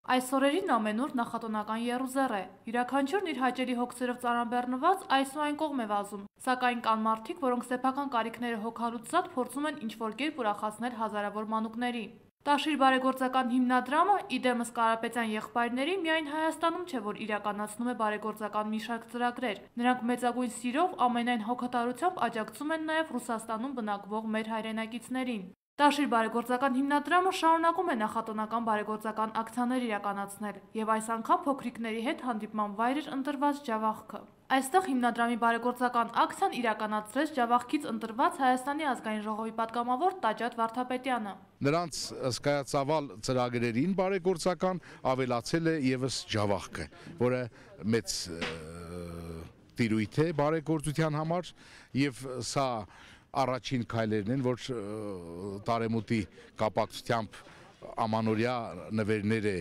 Այս օրերին ամենուր նախատոնական եռուզեռ է։ Յուրաքանչյուրն իր հաճելի հոգսերով ծանրաբեռնված այս ու այն կողմ է վազում, սակայն կան մարդիկ, որոնք սեփական կարիքները հոգալուց զատ փորձում են ինչ-որ կերպ ուրախացնել հազարավոր մանուկների։ Տաշիր բարեգործական հիմնադրամը, իդեմս Կարապետյան եղբայրների, միայն Հայաստանում չէ, որ իրականացնում է բարեգործական մի շարք ծրագրեր։ Նրանք մեծագույն սիրով, ամենայն հոգատարությամբ աջակցում են նաև Ռուսաստանում բնակվող մեր հայրենակիցներին։ Տաշիր բարեգործական հիմնադրամը շարունակում է նախատոնական բարեգործական ակցիաներ իրականացնել, եւ այս անգամ փոքրիկների հետ հանդիպման վայր էր ընտրված Ջավախքը։ Այստեղ հիմնադրամի բարեգործական ակցիան իրականացրեց Ջավախքից ընտրված Հայաստանի ազգային ժողովի պատգամավոր Տաճատ Վարդապետյանը։ Նրանց հսկայածավալ ծրագրերին բարեգործական ավելացել է եւս Ջավախքը, որը մեծ տիրույթ է բարեգործության համար, եւ սա առաջին քայլերն են, որ տարեմուտի կապակցությամբ ամանորյա նվերներ է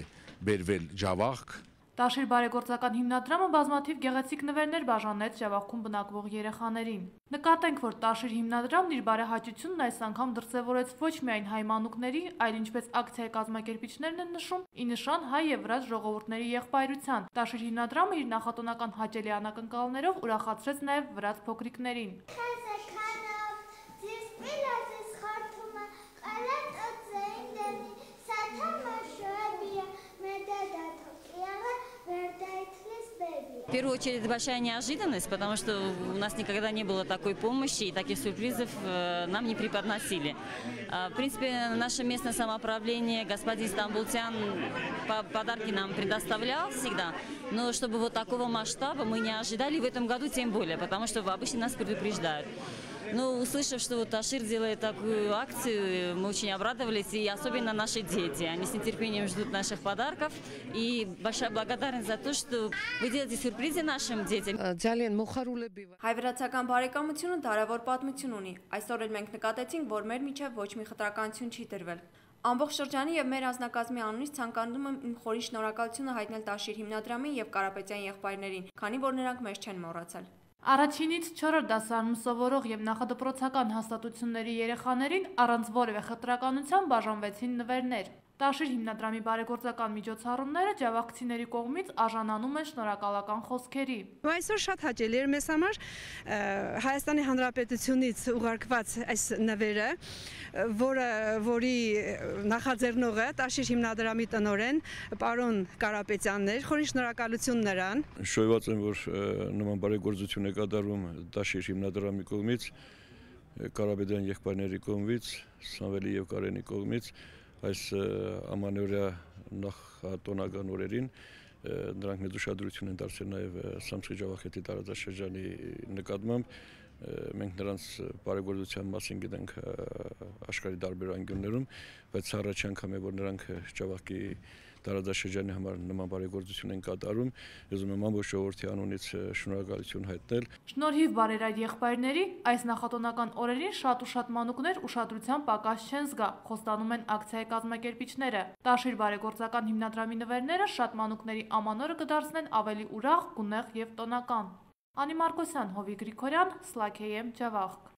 բերվել Ջավախք։ Տաշիր բարեգործական հիմնադրամը բազմաթիվ գեղեցիկ նվերներ բաժանեց Ջավախքում բնակվող երեխաներին։ Նկատենք, որ Տաշիր հիմնադրամն իր բարեհաճությունն այս անգամ դրսևորեց ոչ միայն հայ մանուկների, այլ ինչպես ակցիայի կազմակերպիչներն են նշում, ի նշան հայ եւ վրաց ժողովուրդների եղբայրության։ Տաշիր հիմնադրամը իր նախատոնական հաճելի անակնկալներով ուրախացրեց նաև վրաց փոքրիկներին։ В первую очередь большая неожиданность, потому что у нас никогда не было такой помощи и таких сюрпризов нам не преподносили. В принципе, наше местное самоуправление, господин Стамбултян, подарки нам предоставлял всегда, но чтобы вот такого масштаба мы не ожидали в этом году тем более, потому что обычно нас предупреждают. Но услышав, что вот Ташир делает такую акцию, мы очень обрадовались, и особенно наши дети. Они с нетерпением ждут наших подарков. И большая благодарность за то, что вы делаете сюрпризы нашим детям. Հայ-վրացական բարեկամությունը դարավոր պատմություն ունի։ Այսօր էլ մենք նկատեցինք, որ մեր միջև ոչ մի խտրականություն չի տրվել։ Ամբողջ շրջանի եւ մեր անձնակազմի անունից ցանկանում եմ իմ խորին շնորհակալությունը հայտնել Տաշիր հիմնադրամին եւ Կարապետյան եղբայրներին, քանի որ նրանք մեզ չեն մոռացել։ Առաջինից 4-րդ դասարանում սովորող եւ նախադպրոցական հաստատությունների երեխաներին առանց որևէ խտրականության բաժանվեցին նվերներ։ Տաշիր հիմնադրամի բարեգործական միջոցառումները ջավախքցիների կողմից արժանանում են շնորհակալական խոսքերի։ Այսօր շատ հաճելի էր մեզ համար Հայաստանի Հանրապետությունից ուղարկված այս նվերը, որի նախաձեռնողը Տաշիր հիմնադրամի տնօրեն պարոն Կարապետյանն էր, խորին շնորհակալություն նրան։ Շոյված եմ, որ նման բարեգործություն է կատարում Տաշիր հիմնադրամի կողմից, Կարապետյան եղբայրների կողմից, Սամվելի եւ Կարենի կողմից այս ամանորյա նախատոնական օրերին նրանք մեծ ուշադրություն են դարձրել նաև Սամսկի Ջավախետի տարածաշրջանի նկատմամբ։ Մենք նրանց բարեգործության մասին գիտենք աշխարհի տարբեր անկյուններում, բայց առաջին անգամ է, որ նրանք Ջավախքի տարածաշրջանի համար նման բարեգործություն են կատարում։ Ուզում եմ ամբողջ ժողովրդի անունից շնորհակալություն հայտնել։ Շնորհիվ բարերար եղբայրների, այս նախատոնական օրերին շատ ու շատ մանուկներ ուշադրության պակաս չեն զգա, խոստանում են ակցիայի կազմակերպիչները։ Տաշիր բարեգործական հիմնադրամի նվերները շատ մանուկների ամանորը կդարձնեն ավելի ուրախ, գունեղ եւ տոնական։ Անի Մարկոսյան, Հովիկ Գրիգորյան, Սլաքեյեմ, Ջավախք։